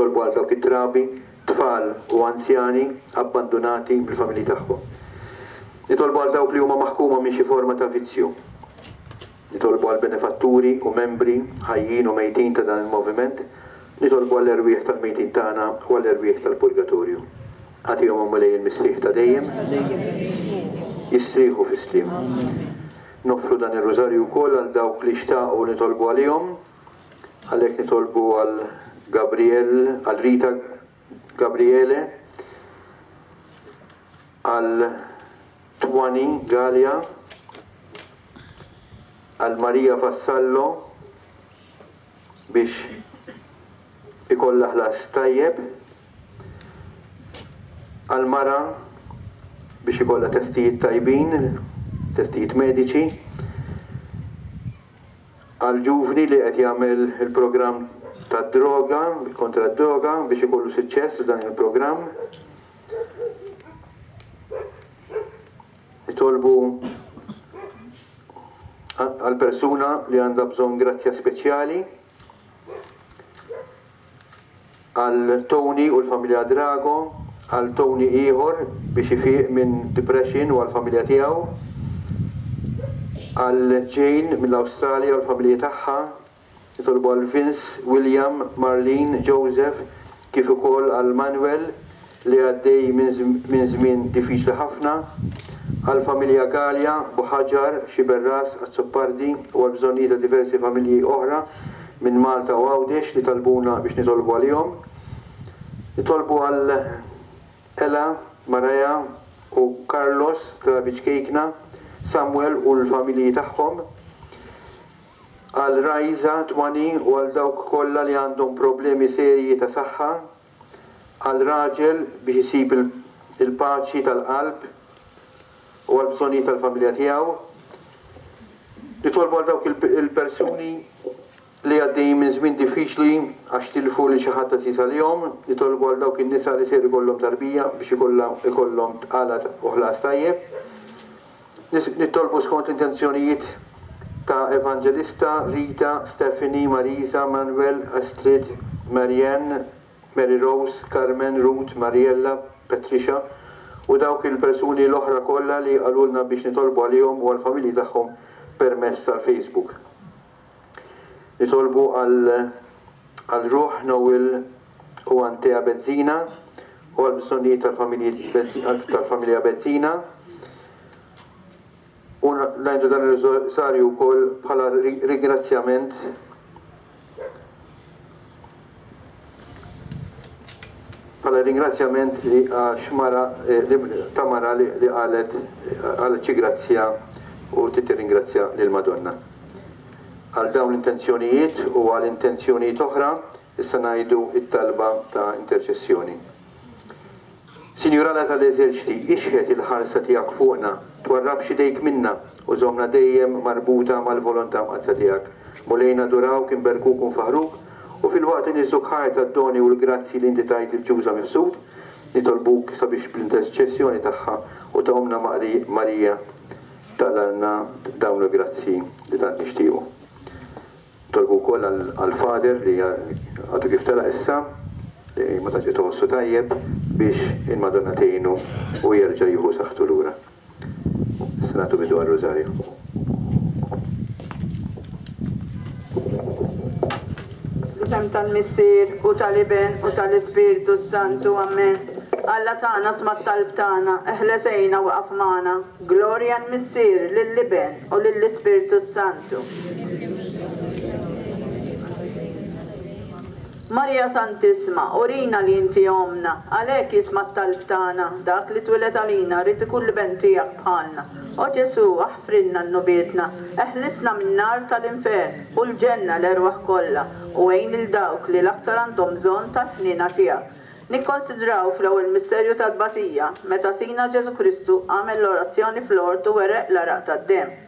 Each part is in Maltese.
Nitolbu għal dawk it-trabi, tfal u anzjani abbandunati mill-familji tagħhom. Nitolbu għal dawk li huma maħkuma minn xi forma ta' vizzju. Nitolbu għall-benefatturi u membri ħajjin u mejtin ta' dan il-moviment. Nitolbu għall-erwieħ tal-mejtin tagħna u għall-erwieħ tal-purgatorju. Agħtihom, o Mulej, il-mistrieħ ta' dejjem. Jistrieħu fis-sliem. Noffru dan ir-Rużarju wkoll għal dawk li xtaqu nitolbu għalihom. Għalhekk nitolbu għal Gabriel, għal Rita Gabriele, għal Twani Galea, għal Maria Vassallo biex ikollha ħlas tajjeb, għal mara biex ikollha testijiet tajbin, testijiet mediċi, għal ġuvni li qed jagħmel il-programm tad-droga, kontra d-droga biex ikollu suċċess f'dan il-programm. Nitolbu għal persuna li għandha bżonn grazzja speċjali, għal Tony u l-familja Drago, għal Tony ieħor biex ifiq minn depression u għall-familja tiegħu, għal Jane mill-Awstralja u l-familja tagħha, Nitolbu għal Vince, William, Marlene, Joseph, kif ukoll għal Manuel li għaddej minn żmien diffiċli ħafna, għall-familja Galea, Buħaġar, Sciberras, Azzopardi u għall-bżonnijiet ta' diversi familji oħra minn Malta u Għawdex li talbuna biex nitolbu għalihom. Nitolbu għal Ella, Mariah u Carlos, trabi ċkejkna, Samuel u l-familji tagħhom. Għal Raiza, Twani u għal dawk kollha li għandhom problemi serji ta' saħħa, għal raġel biex isib il-paċi tal-qalb u għall-bżonnijiet tal-familja tiegħu. Nitolbu għal dawk il-persuni li għaddejjin minn żmien diffiċli għax tilfu lil xi ħadd għażiż għalihom. Nitolbu għal dawk in-nisa li ser ikollhom tarbija biex ikollhom tqala u ħlas tajjeb. Nitolbu skont l-intenzjonijiet ta' Evangelista, Rita, Stephanie, Marisa, Manuel, Astrid, Marianne, Mary Rose, Carmen, Ruth, Mariella, Patricia u dawk il-persuni l-oħra kollha li qalulna biex nitolbu għalihom u għall-familji tagħhom permezz tal-Facebook. Nitolbu għal għal ruħ Noel u Antea Bezzina u għall-bżonnijiet tal-familji tal-familja Bezzina. U ngħidu dan ir-rożarju wkoll bħala ringrazzjament bħala ringrazzjament li għax mara ta' mara li qalet qalet xi grazzja u trid tirringrazzja lill-Madonna. Għal dawn l-intenzjonijiet u għal intenzjonijiet oħra, issa ngħidu t-talba ta' interċessjoni. Sinjur Alla tal-eżerċti, ixħet il-ħarsa tiegħek fuqna, twarrabx idejk minna, u żommna dejjem marbuta mal-volontà mqaddsa tiegħek. Mulej nadurawk, inberkuk u nfaħħruk, u filwaqt li niżżuk ħajr tad-doni u l-grazzji li inti tajt lil Ġuża Mifsud, nitolbuk sabiex bl-interċessjoni tagħha u ta' Ommna Marija taqlalna dawn il-grazzji li tant nixtiequ. Nitolbu wkoll għall-Father li għadu kif telaq issa, li ma tantx qed iħossu tajjeb, biex il-Madonna tgħinu u jerġa' jieħu saħħtu lura. Issa nagħtu bidu għar-Rużarju. Fl-isem tal-Missier, u tal-Iben, u tal-Ispirtu s-Santu. Ammen. Alla tagħna sma' t-talb tagħna, eħles għinna u iqaf magħna. Glorja l-Missier, lill-Iben, u lill-Ispirtu s-Santu. Marija Santissma, urina li inti Ommna, għalhekk jisma' t-talb tagħna, dak li twieled għalina ried ikun l-Iben tiegħek bħalna. O Ġesù, aħfrilna dnubietna, eħlisna min-nar tal-infern u l-ġenna l-erwaħ kollha, u għin lil dawk li l-aktar għandhom bżonn tal-ħniena tiegħek. Nikkonsidraw fl-ewwel misterju tat-tbatija, meta Sidna Ġesù Kristu għamel l-orazzjoni fl-ort u għereq l-għaraq tad-demm.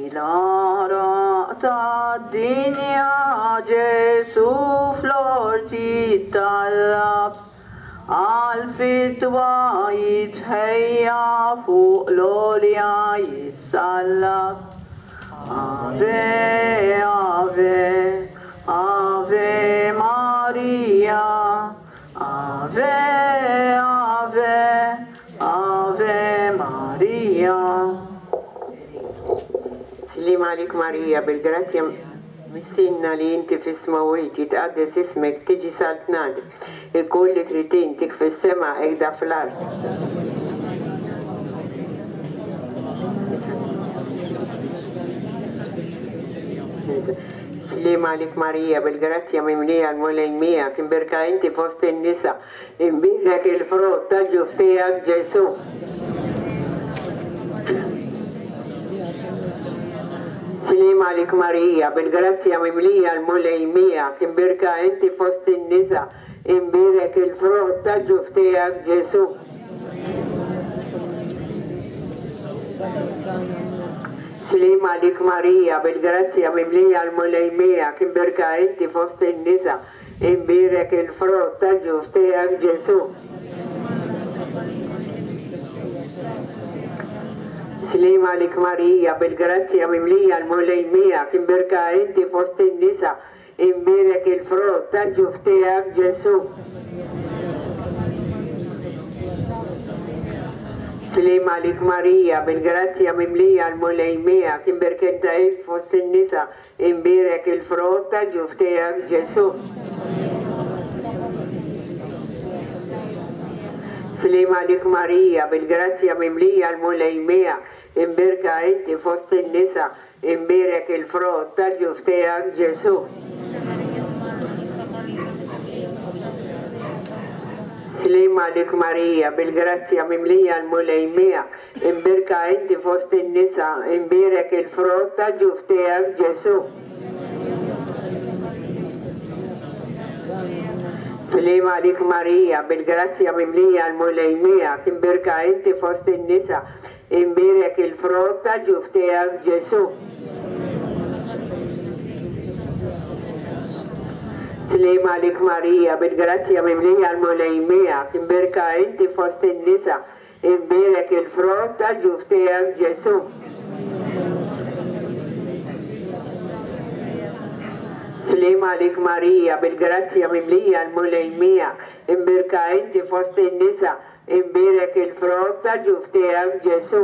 L-għaraq tad-dinja Ġesù fl-ort jittallab, għall-fidwa jitħejja fuq l-għolja jissallab. Ave, ave, ave Maria. Maria, Ave, Ave, Ave Maria. Sliem għalik Marija, bil-grazzja Missierna li inti fis-smewwiet, jitqaddes ismek, tiġi saltnatek, ikun li trid int, hekk fis-sema hekk fl-art. Sliem għalik Marija, bil-grazzja mimlija l-Mulej miegħek, imbierka inti fost in-nisa, imbierek il-frott tal-ġuf tiegħek Ġesù. Sliem għalik Marija, bil-grazzja mimlija l-Mulej miegħek, imbierka inti fost in-nisa, imbierek il-frott tal-ġuf tiegħek Ġesù. Sliem għalik Marija, bil-grazzja mimlija l-Mulej miegħek, imbierka inti fost in-nisa, imbierek il-frott tal-ġuf tiegħek Ġesù. Sliem għalik Marija, bil-grazzja mimlija l-Mulej miegħek, imbierka inti fost in-nisa, imbierek il-frott tal-ġuf tiegħek Ġesù. Sliem għalik Marija, bil-grazzja mimlija l-Mulej miegħek, imbierka inti fost in-nisa, imbierek il-frott tal-ġuf tiegħek Ġesù. Sliem għalik Marija, bil-grazzja mimlija l-Mulej miegħek, imbierka inti fost in-nisa, imbierek il-frott tal-ġuf tiegħek Ġesù. Sliem għalik Marija, bil-grazzja mimlija l-Mulej miegħek, imbierka inti fost in-nisa, imbierek il-frott tal-ġuf tiegħek Ġesù. Sliem għalik Marija, bil-grazzja mimlija l-Mulej miegħek, imbierka inti fost in-nisa, imbierek il-frott tal-ġuf tiegħek Ġesù. Sliem għalik Marija, bil-grazzja mimlija l-Mulej miegħek, imbierka inti fost in-nisa, imbierek il-frott tal-ġuf tiegħek Ġesù. Sliem għalik Marija, bil-grazzja mimlija l-Mulej miegħek, imbierka inti fost in-nisa, imbierek il-frott tal-ġuf tiegħek Ġesù.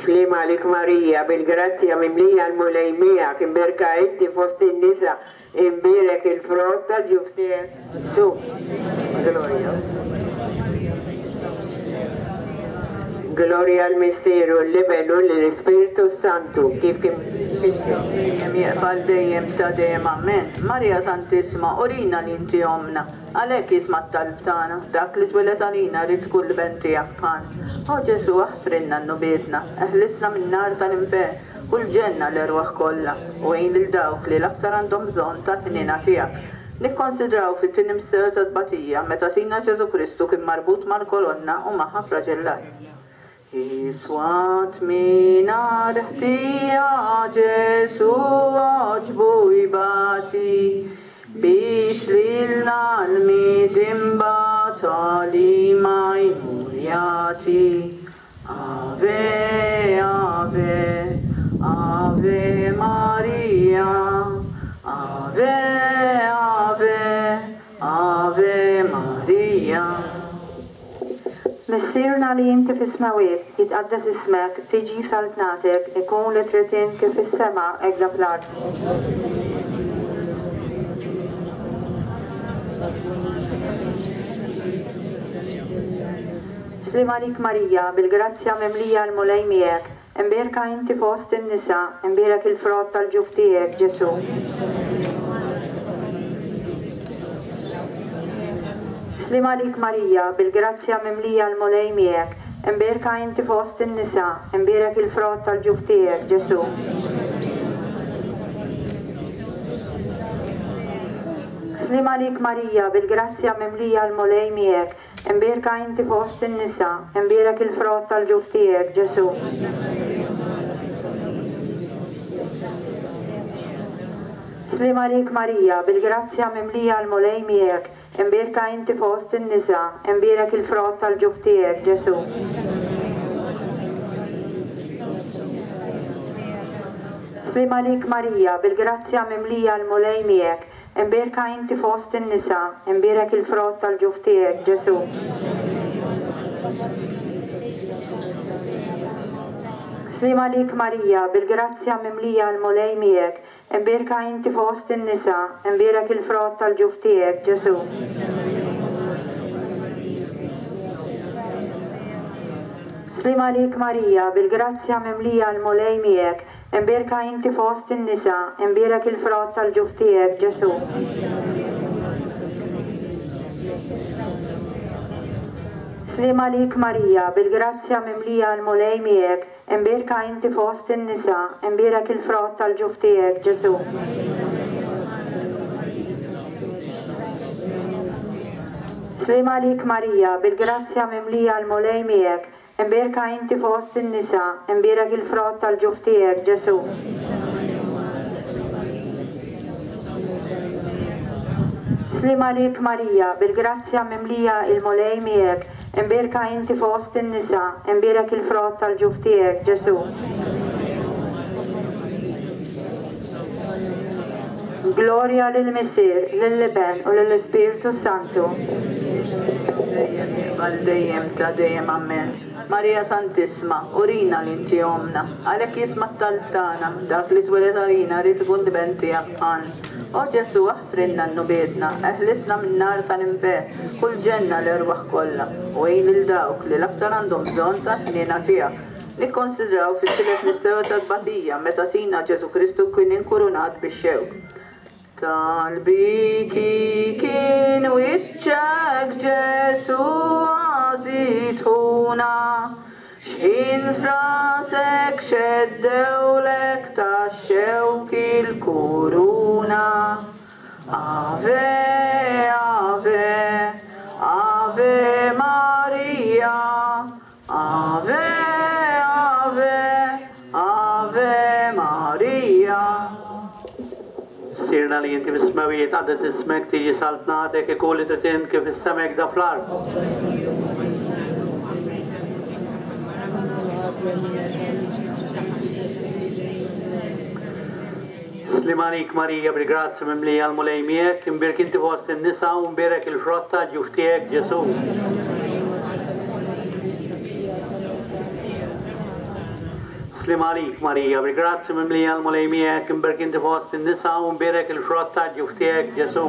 Sliem għalik Marija, bil-grazzja mimlija l-Mulej miegħek, imbierka inti fost in-nisa, imbierek il-frott tal-ġuf tiegħek Ġesù. Gloria. Gloria l-Missier u l-Iben u l-Ispirtu Santu, kif kien Dejjem jieqaf dejjem ta' dejjem amen. Marija Santissima, urina li inti ommna, għalhekk jisma' t-talb tagħna, dak li twieled għalina rrid tkun l-iben tiegħek bħalna. O Ġesù, aħfrilna dnubietna, eħlisna min-nar tal-infern u l-ġenna l-erwaħ kollha, u għin lil dawk li l-aktar għandhom bżonn tal-ħniena tiegħek. Nikkonsidraw fit-tieni misteru tat-tbatija meta Sidna Ġesù Kristu kien marbut mal-kolonna u magħha flaġellat. Iswat mingħajr ħtija Ġesù għoġbu jbati biex lilna l-midinba tagħlima jmur jagħti. Ave, Ave, Ave Maria, Ave, Ave, Ave Maria. Missierna li inti fis-smawiet, jitqaddes ismek, tiġi saltnatek, ikun li trid int kif fis-sema hekk fl-art. Sliem għalik Marija, bil-grazzja mimlija l-Mulej miegħek, imbierka inti fost in-nisa, imbierek il-frott tal-ġuf tiegħek Ġesù. Sliem għalik Marija, bil-grazzja mimlija l-Mulej miegħek, imbierka inti fost in-nisa, imbierek il-frott tal-ġuf tiegħek Ġesù. Sliem għalik Marija, bil-grazzja mimlija l-Mulej miegħek, imbierka inti fost in-nisa, imbierek il-frott tal-ġuf tiegħek Ġesù. Sliem għalik Marija, bil-grazzja mimlija l-Mulej miegħek, imbierka inti fost in-nisa, imbierek il-frott tal-ġuf tiegħek Ġesù. Sliem għalik Marija, bil-grazzja mimlija l-Mulej miegħek, imbierka inti fost in-nisa, imbierek il-frott tal-ġuf tiegħek, Ġesù. Sliem għalik Marija, bil-grazzja mimlija l-Mulej miegħek, imbierka inti fost in-nisa, imbierek il-frott tal-ġuf tiegħek, Ġesù. Sliem għalik Marija, bil-grazzja mimlija l-Mulej miegħek, imbierka inti fost in-nisa, imbierek il-frott tal-ġuf tiegħek, Ġesù. Sliem għalik Marija, bil-grazzja mimlija l-Mulej miegħek, imbierka inti fost in-nisa, imbierek il-frott tal-ġuf tiegħek, Ġesù. Sliem għalik Marija, bil-grazzja mimlija l-Mulej miegħek, imbierka inti fost in-nisa, imbierek il-frott tal-ġuf tiegħek, Ġesù. Sliem għalik Marija, bil-grazzja mimlija il-Mulej miegħek, imbierka inti fost in-nisa, imbierek il-frott tal-ġuf tiegħek, Ġesù. Glorja lill-Missier, lill-Iben u lill-Ispirtu Santu. Dejjem għal dejjem ta' dejjem Amen. Marija Santissma, urina li inti ommna, għalhekk jisma' t-talb tagħna, dak li tweled għalina ried ikun l-Iben tiegħek bħalna. O Ġesù, aħfrilna dnubietna, eħlisna min-nar tal-infern, u l-ġenna l-erwaħ kollha, u għin lil dawk li l-aktar għandhom bżonn tal-ħniena tiegħek. Nikkonsidraw fit-tielet misteru tat-tbatija meta Sidna Ġesù Kristu kien inkurunat bix-xewk. Tal-biki kien wiċċek Ġesù għażiż ħuna, x'ħin f'rasek xeddewlek tax-xewk il-kuruna. Ave, Ave, Ave Maria. Ave, Ave, Ave Maria. Missierna li inti fis-smewwiet, jitqaddes ismek, tiġi saltnatek, ikun li trid int kif fis-sema hekk da fl-art. Sliem għalik Marija bil-grazzja mimlija l-Mulej miegħek, imbierk inti fost in-nisa u mbierek il-frott tal-ġuf tiegħek Ġesù. Sliem għalik Marija bil-grazzja mimlija l-Mulej miegħek, imbierk inti fost in-nisa u mbierek il-frott tal-ġuf tiegħek Ġesù.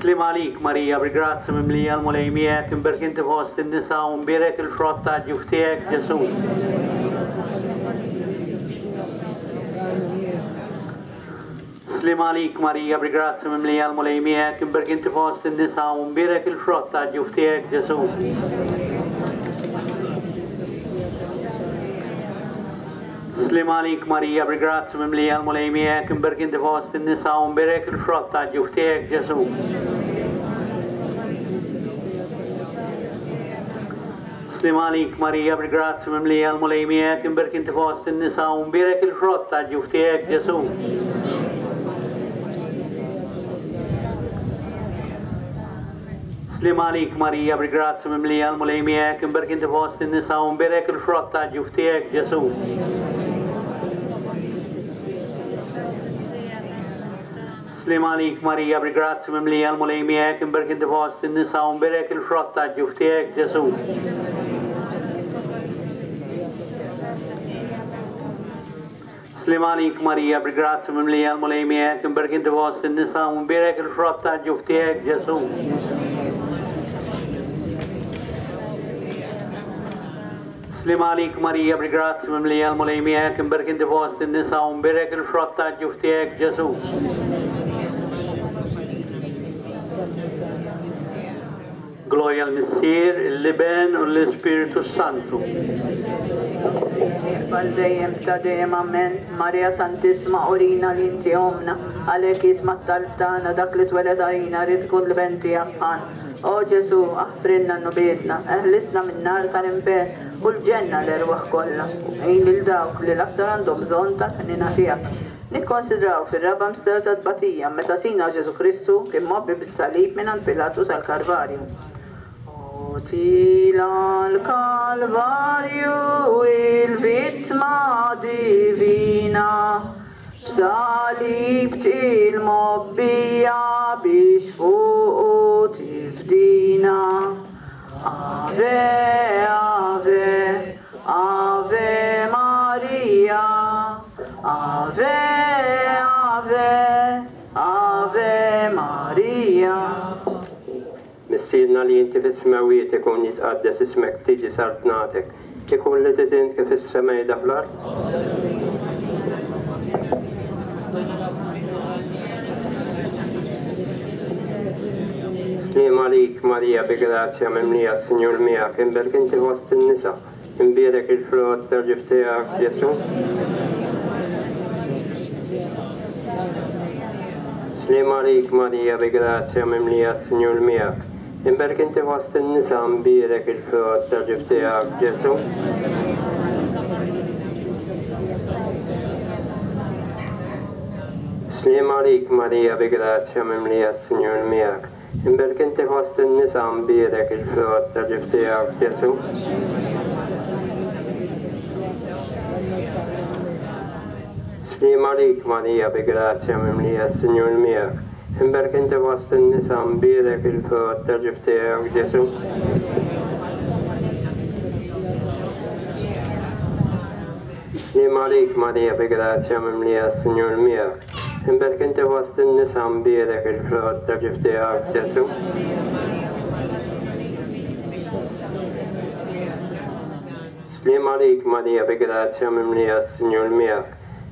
Sliem għalik, Marija, bil-grazzja mimlija l-Mulej miegħek, imbierk inti fost in-nisa u mbierek il-frott tal-ġuf tiegħek, Ġesù. Sliem għalik, Marija, bil-grazzja mimlija l-Mulej miegħek, imbierk inti fost in-nisa u mbierek il-frott tal-ġuf tiegħek, Ġesù. Sliem għalik Marija, bil-grazzja mimlija l-Mulej miegħek, imbierk inti fost in-nisa u mbierek il-frott tal-ġuf tiegħek, Ġesù. Sliem għalik Marija, bil-grazzja mimlija l-Mulej miegħek, imbierk inti fost in-nisa u mbierek il-frott tal-ġuf tiegħek, Ġesù. Sliem għalik Marija, bil-grazzja mimlija l-Mulej miegħek, imbierk inti fost in-nisa u mbierek il-frott tal-ġuf tiegħek, Ġesù. Sliem għalik Marija, bil-grazzja mimlija l-Mulej miegħek, imbierk inti fost in-nisa u mbierek il-frott tal-ġuf tiegħek, Ġesù. Sliem għalik Marija, bil-grazzja mimlija l-Mulej miegħek, imbierk inti fost in-nisa u mbierek il-frott tal-ġuf tiegħek, Ġesù. Sliem għalik Marija, bil-grazzja mimlija l-Mulej miegħek, imbierk inti fost in-nisa u mbierek il-frott tal-ġuf tiegħek, Ġesù. Glorja l-Missier, l-Iben u l-Ispirtu Santu. Għal dejjem ta' dejjem amen. Marija Santissima urina li inti ommna, għalhekk jisma' t-talb tagħna dak li tweled għalina ried ikun l-Iben tiegħek bħalna. O Ġesù, aħfrilna dnubietna, eħlisna min-nar tal-infern u l-ġenna l-erwaħ kollha, u għin lil dawk li l-aktar għandhom bżonn tal-ħniena tiegħek. Nikkonsidraw fir-raba' misteru tat-tbatija meta Sidna Ġesù Kristu kien mgħobbi bis-salib mingħand Pilatu sal-Kalvarju. O tila l-Kalvarju il-vittma divina, b'salib til-mobbija biex fuqu tifdina. Ave, Ave, Ave Maria, Ave, Ave, Ave Maria. Missierna li inti fis-smewwiet ikun jitqaddes ismek tiġi saltnatek, ikun li trid int kif is-sema jda fl-art. Sliem għalik Marija bi grazzja mimlija s-Sinjur miegħek, imbierek inti fost in-nisa, imbierek il-frott tal-ġuf tiegħek Ġesù. Sliem għalik Marija bi grazzja mimlija s-Sinjur miegħek, imbierek inti fost in-nisa, imbierek il-frott tal-ġuf tiegħek Ġesù. Sliem għalik Marija bi grazzja mimlija s-Sinjur miegħek, imbierek inti fost in-nisa, imbierek il-frott tal-ġuf tiegħek Ġesù. Sliem għalik Marija bi grazzja mimlija s-Sinjur miegħek, imbierek inti fost in-nisa, imbierek il-frott tal-ġuf tiegħek Ġesù. Sliem għalik Marija bi grazzja mimlija s-Sinjur miegħek, imbierek inti fost in-nisa, imbierek il-frott tal-ġuf tiegħek Ġesù. Sliem għalik Marija bi grazzja mimlija s-Sinjur miegħek,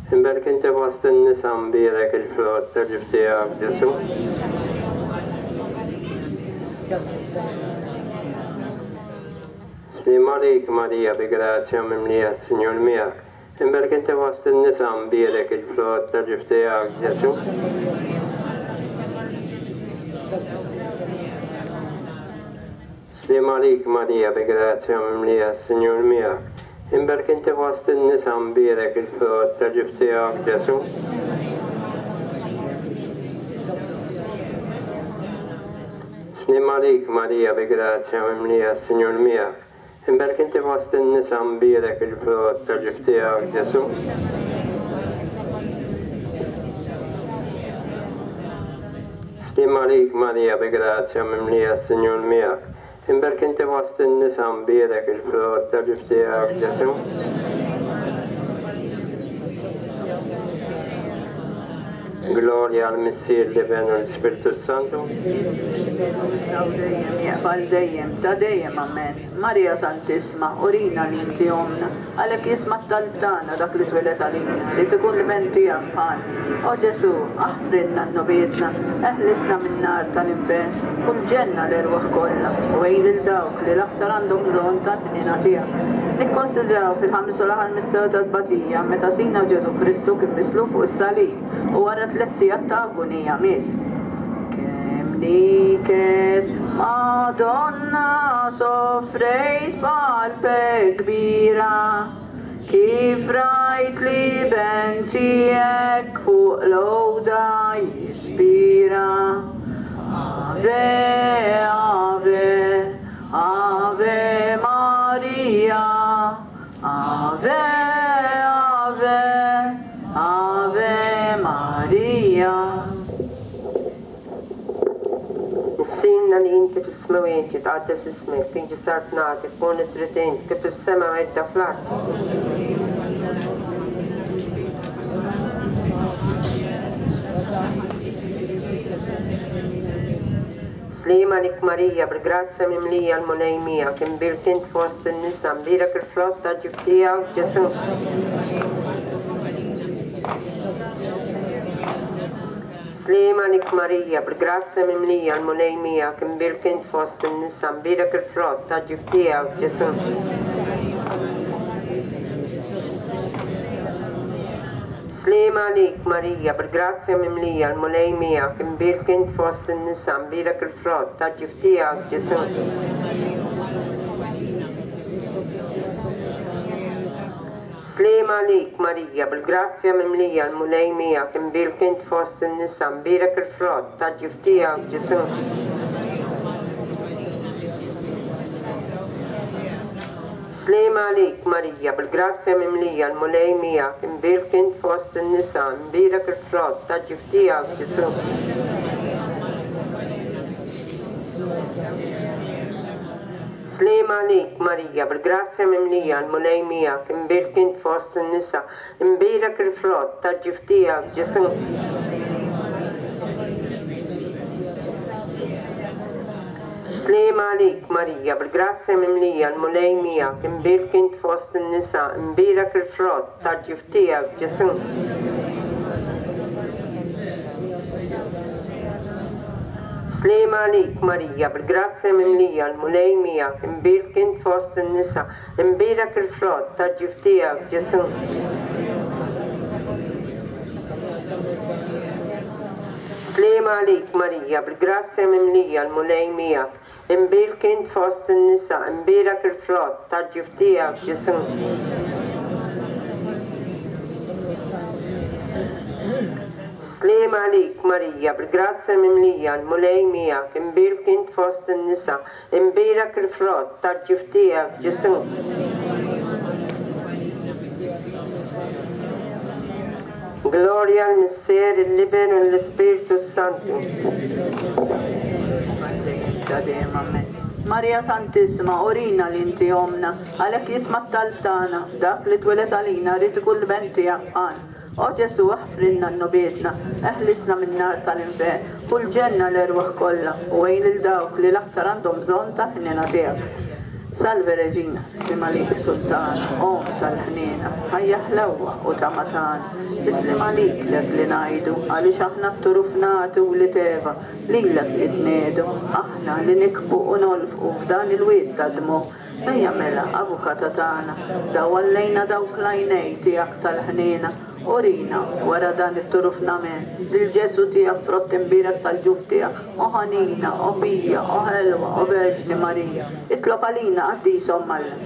imbierek inti fost in-nisa, imbierek il-frott tal-ġuf tiegħek Ġesù. Sliem għalik Marija bi grazzja mimlija s-Sinjur miegħek, imbierek inti fost in-nisa, imbierek il-frott tal-ġuf tiegħek Ġesù. Sliem għalik Marija bi grazzja mimlija s-Sinjur miegħek, imbierek inti fost in-nisa, imbierek il-frott tal-ġuf tiegħek Ġesù. Sliem għalik Marija bi grazzja mimlija s-Sinjur miegħek, imbierek inti fost in-nisa, imbierek il-frott tal-ġuf tiegħek Ġesù. Sliem għalik Marija bi grazzja mimlija s-Sinjur miegħek, imbierek inti fost in-nisa, imbierek il-frott tal-ġuf tiegħek Ġesù. Glorja għal Missier l-Iben u l-Ispirtu Santu. Dejjem jaqbal dejjem, ta' dejjem amen. Marija Santissima, urina li inti omna, għalhekk jisma' t-talb tagħna dak li twieled għalina, li tkun l-iben tiegħek bħal. O Ġesù, aħfrilna dnubietna, eħlisna min-nar tal-infern, u l-ġenna l-erwaħ kollha, u għin lil dawk li l-aktar għandhom bżonn tal-ħniena tiegħek. Nikkonsidraw fil-ħames u l-aħħar misteru tat-tbatija meta Sidna Ġesù Kristu kien mislub fuq is-salib u wara 3 sigħat ta' agunija miet. Kemm niket Madonna soffrejt b'qalbek kbira, kif rajt li ben tiegħek fuq l-għoda jispira. Ave, Ave, Ave Maria, Ave, Ave, Ave Maria. Missierna li inti fis-smewwiet, jitqaddes ismek, tiġi saltnatek, ikun li trid int, kif fis-sema hekk fl-art. Sliem għalik Marija, bil-grazzja mimlija l-Mulej miegħek, imbierek int fost in-nisa, imbierek il-frott ta' ġuf tiegħek Ġesù. Sliem għalik Marija, bil-grazzja mimlija l-Mulej miegħek, imbierek int fost in-nisa, imbierek il-frott ta' ġuf tiegħek Ġesù. Sliem għalik Marija, bil-grazzja mimlija l-Mulej miegħek, imbierek int fost in-nisa, imbierek il-frott ta' ġuf tiegħek Ġesù. Sliem għalik Marija, bil-grazzja mimlija l-Mulej miegħek, imbierek int fost in-nisa, imbierek il-frott ta' ġuf tiegħek Ġesù. Sliem għalik Marija, bil-grazzja mimlija, l-Mulej miegħek, imbierka int fost in-nisa, imbierek il-frott ta' ġuf tiegħek, Ġesù. Sliem għalik Marija, bil-grazzja mimlija, l-Mulej miegħek, imbierka int fost in-nisa, imbierek il-frott ta' ġuf tiegħek, Ġesù. Sliem għalik Marija, bil-grazzja mimlija, l-Mulej miegħek, imbierka int fost in-nisa, imbierek il-frott ta' ġuf tiegħek, Ġesù. Sliem għalik Marija, bil-grazzja mimlija, l-Mulej miegħek, imbierka int fost in-nisa, imbierek il-frott ta' ġuf tiegħek, Ġesù. Sliem għalik Marija, bil-grazzja mimlija, l-Mulej miegħek, imbierka int fost in-nisa, imbierek il-frott ta' ġuf tiegħek, Ġesù. Sliem għalik Marija, bil-grazzja mimlija, l-Mulej miegħek, imbierka int fost in-nisa, imbierek il-frott ta' ġuf tiegħek, Ġesù. Glorja l-Missier, l-Iben u l-Ispirtu Santu. Marija Santissima, urina li inti ommna, għalhekk jisma' t-talb tagħna, dak li twieled għalina ried ikun l-Iben tiegħek bħalna. O Ġesù, aħfrilna dnubietna, eħlisna min-nar tal-infern, u l-ġenna l-erwaħ kollha, u għin lil dawk li l-aktar għandhom bżonn tal-ħniena tiegħek. Salve Regina, sliem għalik Sultana, Omm tal-ħniena, ħajja ħlewwa u tama tagħna. Is-sliem għalik lek li ngħidu, għaliex aħna tturufnati wlied Eva, lilek li tniedu, aħna li nikbu u nolfqu f'dan il-wied tad-dmugħ. Ejja mela, Avukata tagħna, dawwal lejna dawk l-għajnej tiegħek tal-ħniena, urina, wara dan it-turufnament, lil Ġesù tiegħek frott imbierek tal-ġuf tiegħek, o ħanina, o pija, o ħelwa, o Verġni Marija, itlob għalina Qaddisa Omm Alla.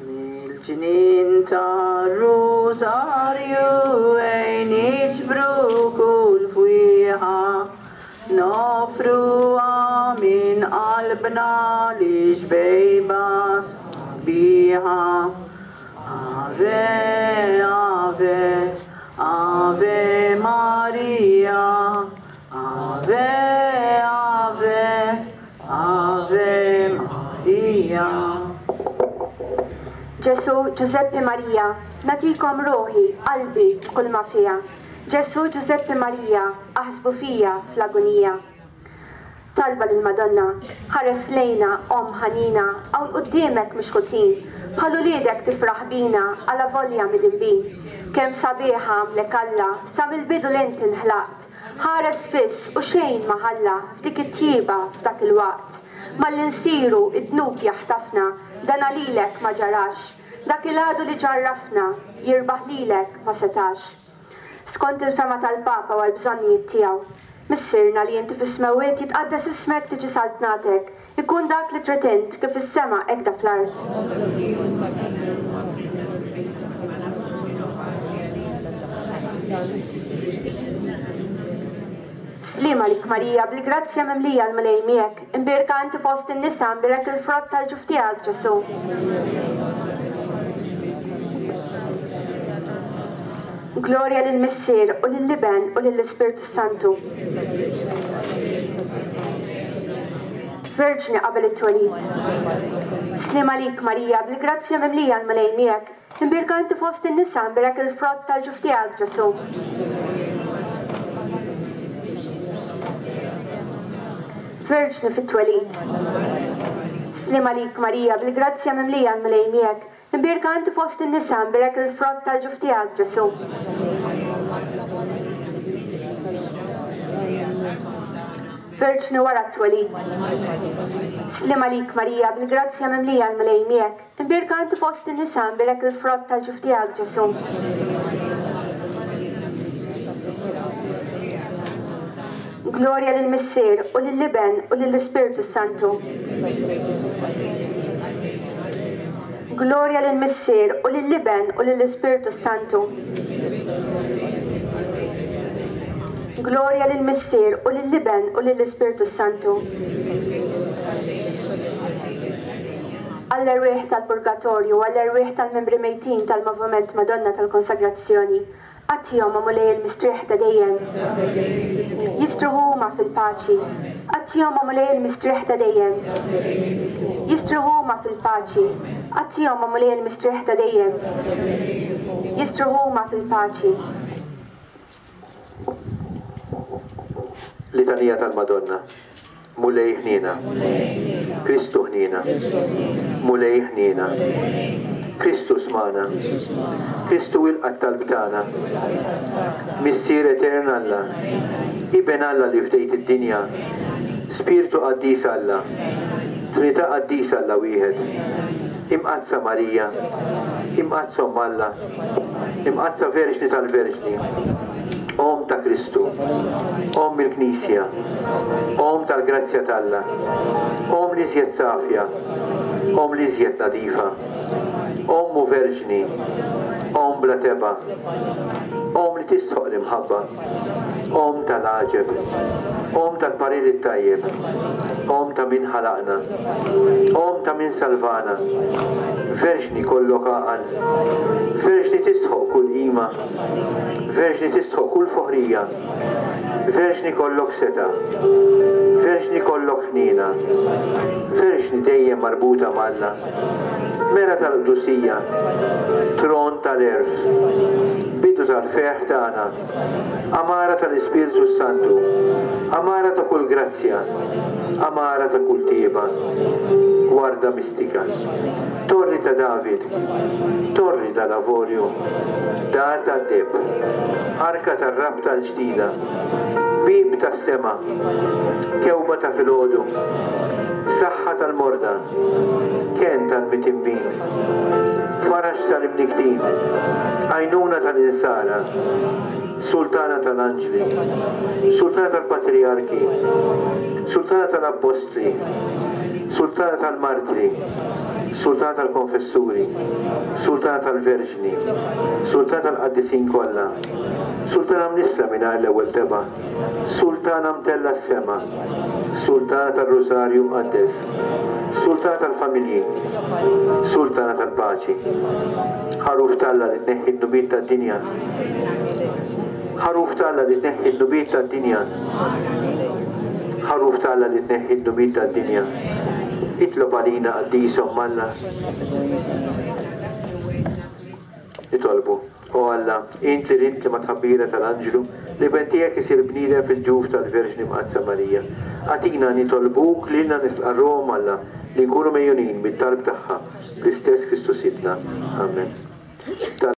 Mill-ġnien tar-Rużarju ejn niġbru kull fwieħa, Noffruha minn qalbna lix-xbejba sabiħa. Ave, Ave, Ave Maria, Ave, Ave, Ave Maria. Ġesù, Ġużeppi Marija, nagħtikom ruħi, qalbi, b'kull ma fiha. Ġesù, Ġużeppi Marija, aħsbu fija fl-agunija. Talba lill-Madonna, Ħares lejna, Omm ħanina, hawn quddiemek mixħutin, bħal uliedek tifraħ bina, alavolja midinbin. Kemm sabiħa għamlek Alla, sa mill-bidu l'int inħlaqt, ħares fiss u xejn ma ħalla f'dik it-tjieba f'dak il-waqt. Malli nsiru, id-dnub jaħtafna, dana lilek ma ġarax. Dak il-għadu li ġarrafna, jirbaħ lilek ma setax. Skont il-fehma tal-Papa u għall-bżonnijiet tiegħu. Missierna li inti fis-smewwiet jitqaddes ismek tiġi saltnatek, ikun dak li trid int kif fis-sema hekda fl-art. Sliem għalik Marija, bil-grazzja mimlija l-Mulej miegħek, imbierka inti fost in-nisa, imbierek il-frott tal-ġuf tiegħek Ġesù. Glorja lill-Missier u lill-Iben u lill-Ispirtu s-Santu. Verġni qabel it-twelid. Sliem għalik Marija, bil-grazzja mimlija l-Mulej miegħek, Imbierka inti fost in-nisa, imbierek il-frott tal-ġuf tiegħek, Ġesù. Verġni fit-twelid. Sliem għalik Marija, bil-grazzja mimlija l-Mulej miegħek, imbierka inti fost in-nisa, imbierek il-frott tal-ġuf tiegħek, Ġesù. Verġni wara t-twelid. Sliem għalik Marija, bil-grazzja mimlija l-Mulej miegħek, Imbierka inti fost in-nisa, imbierek il-frott tal-ġuf tiegħek, Ġesù. Glorja lill-Missier, u lill-Iben, u lill-Ispirtu s-Santu. Glorja lill-Missier, u lill-Iben, u lill-Ispirtu s-Santu. Glorja lill-Missier, u lill-Iben, u lill-Ispirtu s-Santu. Għall-erwieħ tal-Purgatorju, għall-erwieħ tal-membri mejtin tal-Moviment Madonna tal-Konsagrazzjoni, agħtihom, o Mulej, il-mistrieħ ta' dejjem. Jistrieħu huma fil-paċi. Agħtihom, o Mulej, il-mistrieħ ta' dejjem. Jistrieħu huma fil-paċi. Agħtihom, o Mulej, il-mistrieħ ta' dejjem. Jistrieħu huma fil-paċi. Litanija tal-Madonna. Mulej ħniena. Kristu ħniena. Mulej ħniena. Kristu smana. Kristu ilqa' t-talb tagħna. Missier etern Alla, Iben Alla li fdejt id-dinja, Spirtu qaddis Alla, Trinità qaddisa Alla wieħed, Imqaddsa Marija, Imqaddsa Omm Alla, Imqaddsa Verġni tal-Verġni, Omm ta' Kristu, Omm il-Knisja, Omm tal-grazzja t'Alla, Omm l-iżjed safja, Omm l-iżjed nadifa, Omm u Verġni, Omm bla tebgħa, Omm li tistħoqq l-imħabba, Omm tal-għaġeb, Omm tal-parir it-tajjeb, Omm ta' min ħalaqna, Omm ta' min salvana, Verġni kollok għaqal, Verġni tistħoqq kull qima, Verġni tistħoqq kull foħrija, Verġni kollok setgħa, Verġni kollok ħniena, Verġni dejjem marbuta m'Alla, Mera tal-qdusija, Tron tal-għerf, Bidu tal-ferħ tagħna, Għamara tal-Ispirtu s-Santu, Għamara ta' kull grazzja, Għamara ta' kull tjieba, Gwarda mistika, Torri ta' David, Torri tal-avorju, Dar tad-deheb, Arka tar-rabta l-ġdida, Bieb tas-sema, Kewba ta' filgħodu, Saħħa tal-morda, Kenn tal-mitimbin, Faraġ tal-imnikktin, Għajnuna tal-insara, Sultana tal-anġli, Sultana tal-patrijarki, Sultana tal-appostli, Sultana tal-martri, Sultana tal-konfessuri, Sultana tal-verġni, Sultana tal-qaddisin kollha, Sultana mnissla mingħajr l-ewwel tebgħa, Sultana mtellgħa s-sema, Sultana tar-Rużarju Mqaddes, Sultana tal-familji, Sultana tal-paċi, Ħaruf t'Alla li tneħħi d-dnubiet tad-dinja, Ħaruf t'Alla li tneħħi d-dnubiet tad-dinja, Ħaruf t'Alla li tneħħi d-dnubiet tad-dinja, itlob għalina qaddisa Omm Alla. Nitolbu. O Alla, int li ridt li mat-tħabbira tal-anġlu, l-Iben tiegħek isir bniedem fil-ġuf tal-Verġni Mqaddsa Marija, agħtina nitolbuk lilna nistqarru Omm Alla li nkunu megħjunin mit-talb tagħha, bl-istess Kristu Sidna. Amen.